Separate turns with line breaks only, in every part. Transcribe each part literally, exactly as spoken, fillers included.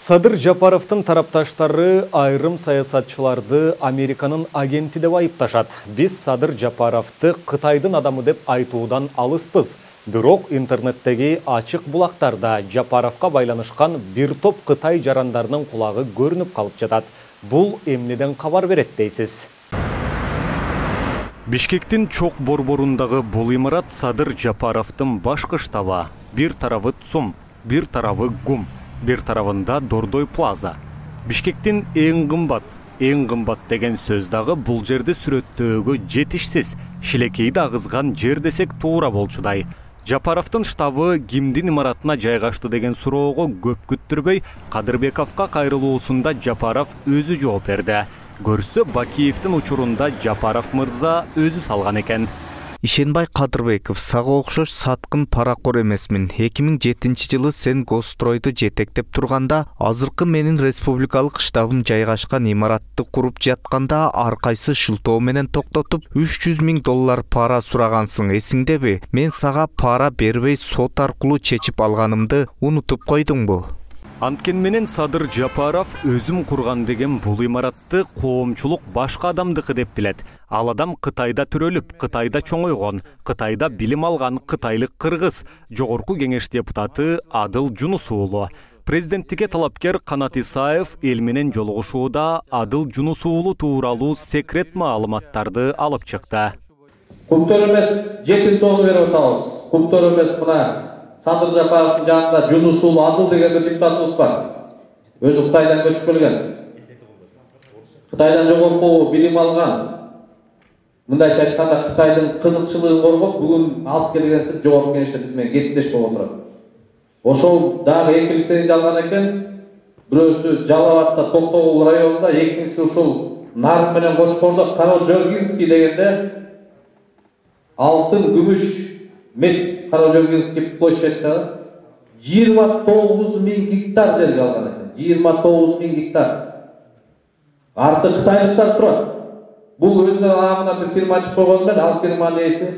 Садыр Жапаровдун тарапташтары айрым саясатчыларды Американын агенти деп айыпташат. Биз Садыр Жапаровду Кытайдын адамы деп айтуудан алыспыз. Бирок интернеттеги ачык булактарда Жапаровго байланышкан бир топ Кытай жарандарынын кулагы көрүнүп калып жатат. Бул эмнеден кабар берет дейсиз? Бишкектин чок борборундагы бул имарат Садыр Жапаровдун башкы штабы. Бир тарабы ЦУМ, бир тарабы ГУМ. Бир тарабында Дордой Плаза. Бишкектин эң кымбат, эң кымбат деген сөз дагы бул жерди сүрөттөөгө жетишсиз, шилекейди агызган жер десек туура болчудай. Жапаровдун штабы кимдин имаратына жайгашты деген суроого көп күттүрбөй Кадырбековго кайрылуусунда Жапаров өзү жооп берди. Көрсө Бакиевдин учурунда Жапаров мырза өзү салган экен.
Ишенбай Кадырбеков, сага окшош саткын паракор эмесмин. эки миң жетинчи жылы сен Гостройду жетектеп турганда, азыркы менин республикалык штабым жайгашкан имаратты куруп жатканда ар кайсы шылтоо менен токтотуп үч жүз миң доллар пара сурагансың, эсиңдеби? Мен сага пара бербей сот аркылуу чечип алганымды унутуп койдуңбу?
Анткен менен Садыр Жапаров өзүм курган деген бул имаратты коомчулук башка адамдыкы деп билет. Ал адам Кытайда төрөлүп, Кытайда чоңойгон, Кытайда билим алган кытайлык кыргыз, жогорку кеңеш депутаты Адыл Жунус уулу. Президенттикке талапкер Канат Исаев эл менен жолугушууда Адыл Жунус уулу тууралуу секрет маалыматтарды алып чыкты.
Куптор эмес жети тонн берип атабыз. Куптор эмес мына Садыр Жапаровдун жанында Жунус уулу Адыл деген депутатыбыз бар. Өзү Кытайдан көчүп келген. Кытайдан жогорку билим алган. Мындайча айтканда Кытайдын кызыкчылыгын коргоп, бүгүн алыс келгенсип жогорку кеңеште биз менен кесиптеш болуп отурат. Ошол дагы эки лицензия алган экен. Бирөөсү Жалал-Абадта Токтогул районунда, экинчиси ушул Нарым менен Кочкордо Каражоргинский дегенде алтын, күмүш, мед Каражоргинский площадьта жыйырма тогуз миң гектар жерге алган экен. жыйырма тогуз миң гектар. Арты кытайлыктар турат. Бул өзүнүн арамына бир фирма ачып койгон менен, ал фирманын ээси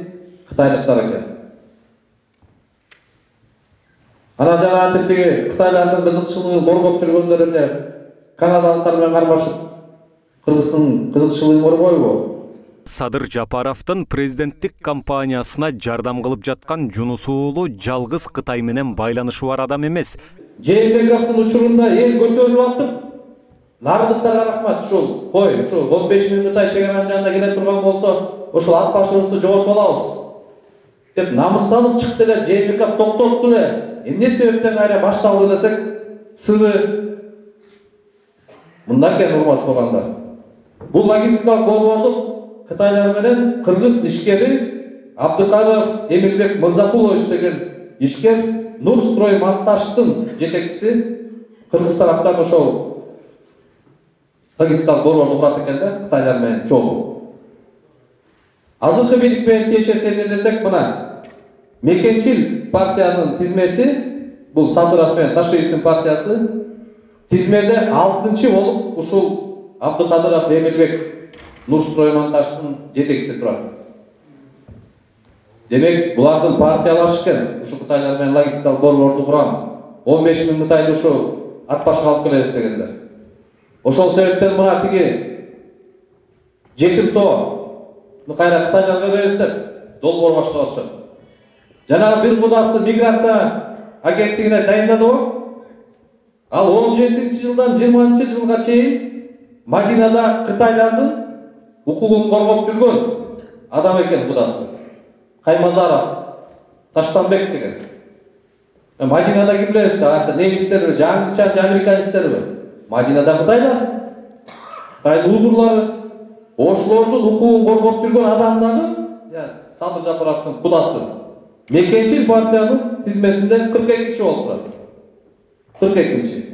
кытайлыктар экен. Ана жана типтеги кытайлардын кызыкчылыгын коргоп жүргөндөр эле канадалыктар менен кармашып кыргыздын кызыкчылыгын коргойбу?
Садыр Жапаровдун президенттик кампаниясына жардам кылып жаткан Жунус уулу жалгыз Кытай менен байланышы бар адам эмес.
Жээнбековдун учурунда эл көтөрүлүп атып, нарындыктарга рахмат, ушул кой, ушул он беш миң Кытай чегаранын жанында келе турган болсо, ушул ат башыбызды жоготуп алабыз деп намыстанып чыкты эле, Жээнбеков токтотту эле. Эмне себептен кайра башталды десек, сыры мындай экен, урматтуу туугандар. Бул логистикалык борбордук Кытайлар менен кыргыз ишкери Абдыкаров Эмилбек Мырзакулович деген ишкер Нурстрой монтаждын жетекчиси кыргыз тараптан ошол логистикалык борборду курат экен да, Кытайлар менен чогуу. Азыркы бийлик менен тиешеси эмне десек, мына Мекенчил партиянын тизмеси, бул Садыров менен Ташиевдин партиясы тизмеде алтынчы болуп ушул Абдыкадыров Эмилбек Нурстрой монтаждын жетекчиси турат. Демек, булардын партиялашы экен. Ушу Кытайлар менен логистикалык борборду курам. он беш миң Кытайды ушу ат башка алып келебиз дегендер. Ошол себептен мына тиги Жекимтоону кайра Кытайга беребиз деп долбоор баштап атышат. Жана бир кудасы миграция агенттигине дайындадыбы? Ал он жетинчи жылдан жыйырманчы жылга чейин Мадинада Кытайлардын укугун коргоп жүргөн адам экен кудасы. Каймазаров, Таштанбек деген. Мадинада ким билебиз, ата немистерби, жаңыча американецтерби? Мадинада Кытайлар. Кытай уйгурлары, ошолордун укугун коргоп жүргөн адамдарды, Садыр Жапаровдун кудасы Мекенчил партиянын тизмесинде кырк экинчи болуп турат. кырк экинчи.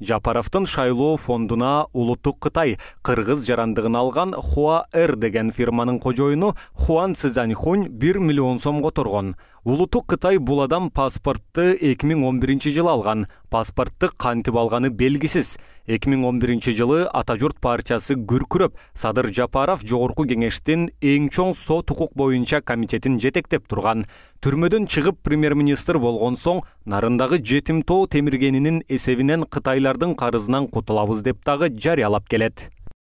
Жапаровдун шайлоо фондуна Улуттук Кытай кыргыз жарандыгын алган Хуа Эр деген фирманын кожоюну Хуан Цзяньхунь бир миллион сомго торгон. Улуттук Кытай бул адам паспортты эки миң он биринчи жылы алган. Паспортты кантип алганы белгисиз. эки миң он биринчи жылы Ата журт партиясы күркүрөп, Садыр Жапаров жогорку кеңештин эң чоң сот укук боюнча комитетин жетектеп турган. Түрмөдөн чыгып премьер-министр болгон соң нарындагы жетим тоо темиргенинин эсебинен кытайлардын карызынан кутулабыз деп дагы жарыялап келет.